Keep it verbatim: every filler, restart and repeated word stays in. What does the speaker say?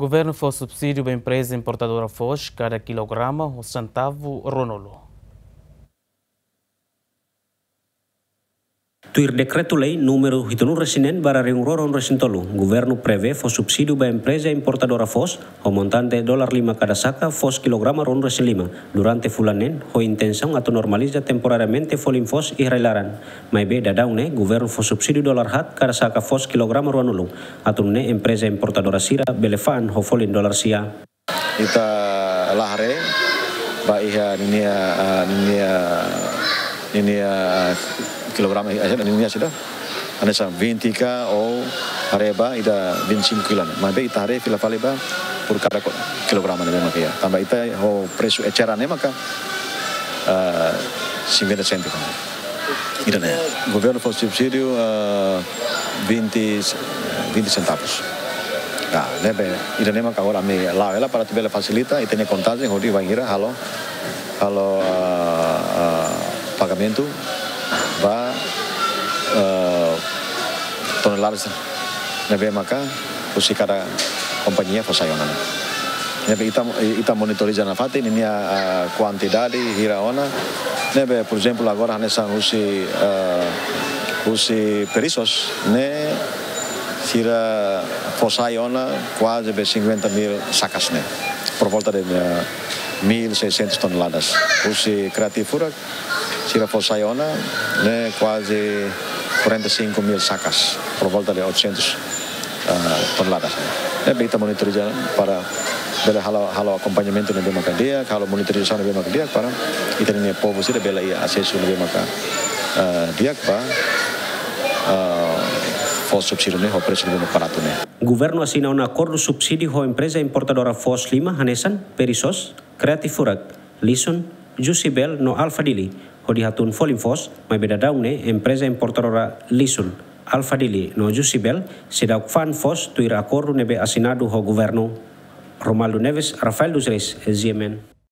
Governu fó subsídiu ba empreza importadora foos kada kilograma ho sentavu ruanulu. Tuir Dekretu-Lei númeru hitunulu-resin-neen barra rihun rua ruanulu-resin-tolu, Governu prevee fó subsídiu ba empreza importadora foos ho montante dolar lima kada saka foos kilograma ruanulu-resin-lima durante fulan neen, ho intensaun atu normaliza temporariamente folin foos iha rai-laran. Maibé daudaun ne'e, Governu fó subsídiu dolar haat kada saka foos kilograma ruanulu, atu nune'e empreza importadora sira bele fa'an ho folin dolar sia. Ita la haree ba iha ninia, ah, ninia, ninia kilograma, eh, ninia sida. Hanesan vinte ka ou haree ba ida vinte e cinco kilo. Maibé ita haree fila fali ba por kada ko-, kilograma ne'ebé mak iha. Tanba ita ho presu eceran ne'e maka, ah, cinquenta cêntimos. Ida-ne'e, Governu fó subsídiu, ah, vinte, vinte centavos. Ya, ne'ebé, ida-ne'e maka agora ami la'o hela para atu bele fasilita, ita-nia kontajen hodi bainhira halo, halo, ah, ah, pagamentu ba, ah, tonelada ne'ebé maka husi kada kompañia fó sai ona. Ne'ebé ita, ita monitoriza nafatin ninia, ah, kuantidade hira ona. Ne'ebé, por ezemplu, agora hanesan husi, ah, husi Perissos ne'e sira fó sai ona kuaze be cinquenta mil sacas ne'e. Por volta de, ah, mil seiscentos toneladas. Husi Creative Furak sira fó sai ona ne'e kuaze quarenta e cinco mil sacas, por volta de oitocentos, ah, toneladas. Ne'ebé ita monitoriza para bele halo, halo akompañamentu ne'ebé maka di'ak, halo monitorizasaun ne'ebé maka di'ak para ita-nia povu sira bele iha asesu ne'ebé maka, ah, di'ak ba, ah, fó subsídiu ne'e ho presu ne'ebé maka baratu ne'e. Governu asina ona akordu subsídiu ho empreza importadora foos lima hanesan Perissos, Creative Furak, Lison, Jussebel no Alpha Dili, hodi hatún folin foos, maibé daudaun ne'e empreza importadora Lison, Alpha Dili no Jussebel seidauk fa'an foos tuir akordu ne'ebé asinadu ho Governu. Romaldo Neves, Rafael dos Reis, G M N.